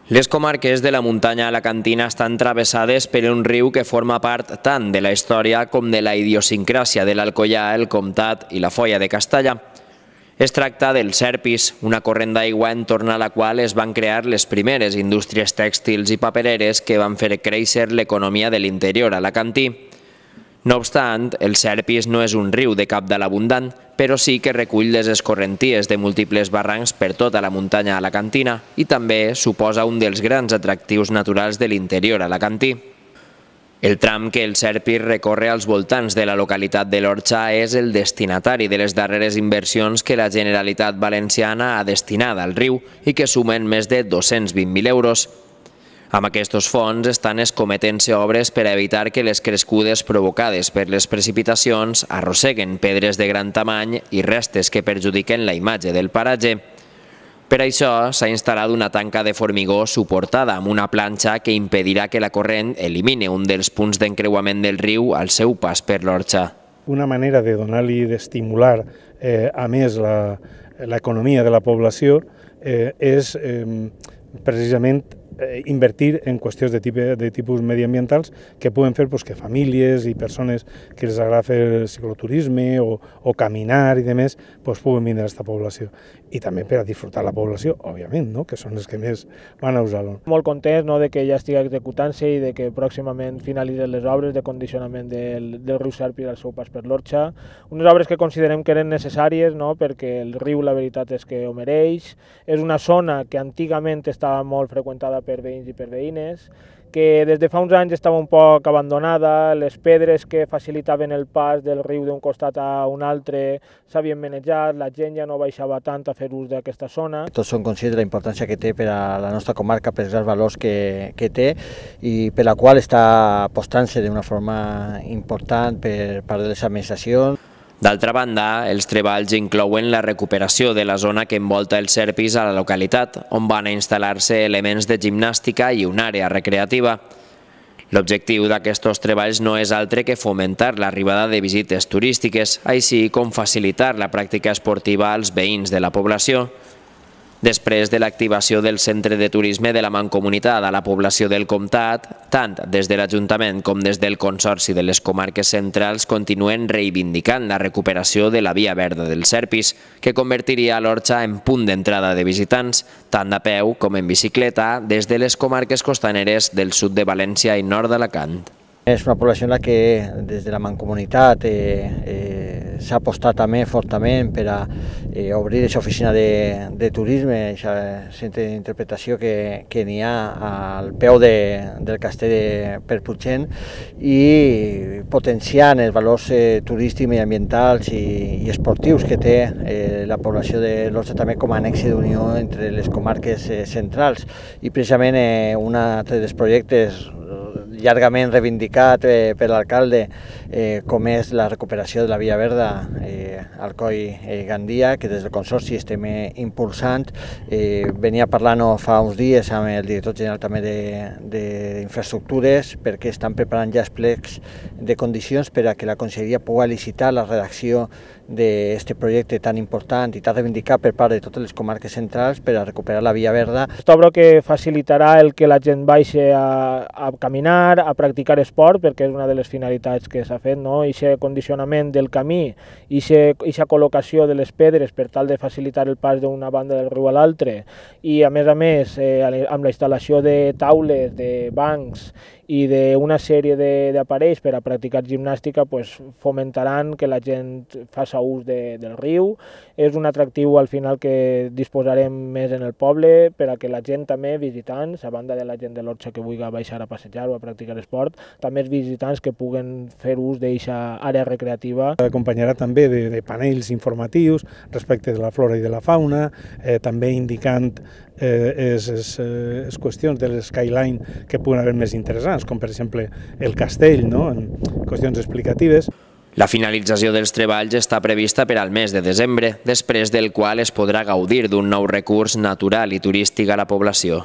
Les comarques de la muntanya alacantina estan travessades per un riu que forma part tant de la història com de la idiosincràsia de l'Alcoià, el Comtat i la Foia de Castalla. Es tracta del Serpis, una corrent d'aigua entorn a la qual es van crear les primeres indústries tèxtils i papereres que van fer créixer l'economia de l'interior alacantí. No obstant, el Serpis no és un riu de cabdal abundant, però sí que recull les escorrenties de múltiples barrancs per tota la muntanya alacantina i també suposa un dels grans atractius naturals de l'interior alacantí. El tram que el Serpis recorre als voltants de la localitat de l'Orxa és el destinatari de les darreres inversions que la Generalitat Valenciana ha destinat al riu i que sumen més de 220.000 euros. Amb aquests fons estan escometent-se obres per a evitar que les crescudes provocades per les precipitacions arrosseguen pedres de gran tamany i restes que perjudiquen la imatge del paratge. Per això s'ha instal·lat una tanca de formigó suportada amb una planxa que impedirà que la corrent elimini un dels punts d'encreuament del riu al seu pas per l'Orxa. Una manera de donar-li, d'estimular a més l'economia de la població és precisament invertir en qüestions de tipus mediambientals que puguen fer que famílies i persones que els agrada fer cicloturisme o caminar i demés puguen vindre a aquesta població. I també per a disfrutar la població, òbviament, que són els que més van a usar-lo. Molt contents que ja estigui executant-se i que pròximament finalitzen les obres de condicionament del riu Serpis al seu pas per l'Orxa. Unes obres que considerem que eren necessàries perquè el riu la veritat és que ho mereix. És una zona que antigament estava molt freqüentada per veïns i per veïnes, que des de fa uns anys estava un poc abandonada, les pedres que facilitaven el pas del riu d'un costat a un altre s'havien manejat, la gent ja no baixava tant a fer ús d'aquesta zona. Tots som conscients de la importància que té per a la nostra comarca, per els valors que té i per la qual està apostant-se d'una forma important per part de les administracions. D'altra banda, els treballs inclouen la recuperació de la zona que envolta el Serpis a la localitat, on van instal·lar-se elements de gimnàstica i una àrea recreativa. L'objectiu d'aquests treballs no és altre que fomentar l'arribada de visites turístiques, així com facilitar la pràctica esportiva als veïns de la població. Després de l'activació del centre de turisme de la Mancomunitat a la població del Comtat, tant des de l'Ajuntament com des del Consorci de les Comarques Centrals continuen reivindicant la recuperació de la via verda del Serpis, que convertiria l'Orxa en punt d'entrada de visitants, tant a peu com en bicicleta, des de les comarques costaneres del sud de València i nord d'Alacant. És una població en la que des de la Mancomunitat s'ha apostat també fortament per a obrir aquesta oficina de turisme, aquest centre d'interpretació que n'hi ha al peu del castell de Perputxent i potenciant els valors turístics, mediambientals i esportius que té la població de l'Orxa també com a nexe d'unió entre les comarques centrals. I precisament un altre dels projectes llargament reivindicat per l'alcalde, com és la recuperació de la via verda Alcoi-Gandia, que des del Consorci estem impulsant. Venia parlant fa uns dies amb el director general també d'infraestructures perquè estan preparant ja els plecs de condicions per a que la Conselleria pugui licitar la redacció d'aquest projecte tan important i tan reivindicat per part de totes les comarques centrals per a recuperar la via verda. Aquesta obra que facilitarà el que la gent baixi a caminar, a practicar esport, perquè és una de les finalitats que s'ha fet, aquest condicionament del camí i aquesta col·locació de les pedres per tal de facilitar el pas d'una banda del riu a l'altra i a més amb la instal·lació de taules, de bancs i d'una sèrie d'aparells per a practicar gimnàstica fomentaran que la gent faci ús del riu. És un atractiu al final que disposarem més en el poble per a que la gent també, visitants, a banda de la gent de l'Orxa que vulgui baixar a passejar o a practicar esport, també els visitants que puguen fer ús d'aquesta àrea recreativa. Acompanyarà també de panells informatius respecte de la flora i de la fauna, també indicant les qüestions de l'skyline que puguen haver més interessants, com per exemple el castell, en qüestions explicatives. La finalització dels treballs està prevista per al mes de desembre, després del qual es podrà gaudir d'un nou recurs natural i turístic a la població.